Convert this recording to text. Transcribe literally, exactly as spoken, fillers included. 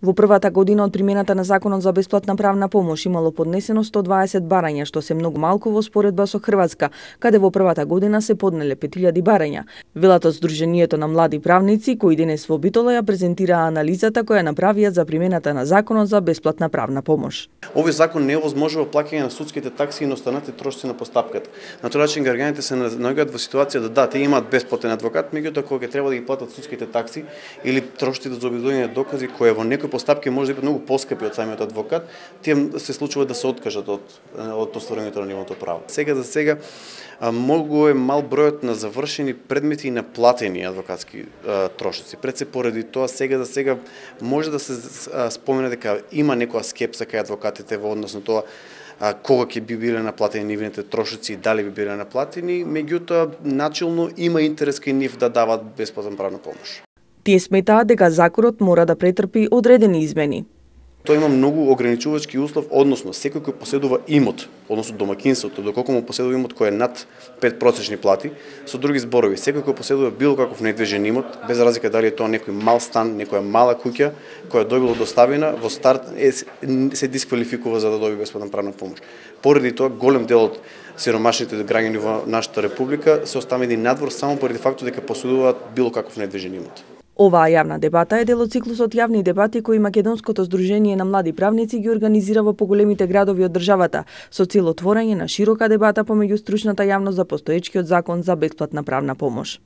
Во првата година од примената на Законот за бесплатна правна помош имало поднесено сто дваесет барања, што се многу малку во споредба со Хрватска, каде во првата година се поднеле пет илјади барања. Велат од Сдруженијето на млади правници, кои денес во Битола ја презентираа анализата која направија за примената на Законот за бесплатна правна помош. Овој закон не овозможува плаќање на судските такси и на останатите трошоци на постапката. На тој начин граѓаните се наоѓаат во ситуација да да, те имаат бесплатен адвокат, меѓутоа кога ќе треба да ги платат судските такси или трошоците за обезбедување на докази кои во некои постапки може да бидат многу поскапи од самиот адвокат, тие се случува да се откажат од од остварувањето на нивното право. Сега за сега многу е мал бројот на завршени предмети и на платени адвокатски а, трошоци. Пред се поради тоа сега за сега може да се а, спомене дека има некоја скепса кај адвокатите во однос на тоа а, кога ќе би биле наплатени нивните трошоци и дали би биле наплатени, меѓутоа начелно има интерес кај нив да дават бесплатна правна помош. Тие сметаат дека законот мора да претрпи одредени измени. Тоа има многу ограничувачки услов, односно секој кој поседува имот, односно домакинството, доколку му поседува имот кој е над пет просечни плати, со други зборови, секој кој поседува било каков недвижен имот, без разлика дали е тоа некој мал стан, некоја мала куќа која добила доставена, во старт е, се дисквалификува за да доби бесплатна правна помош. Поради тоа голем дел од сиромашните граѓани во нашата република се оставени надвор само поради фактот дека поседуваат било каков недвижен имот. Оваа јавна дебата е дел од циклусот јавни дебати кои Македонското Сдружение на млади правници ги организира во поголемите градови од државата, со цел отворање на широка дебата помеѓу стручната јавност за постоечкиот закон за бесплатна правна помош.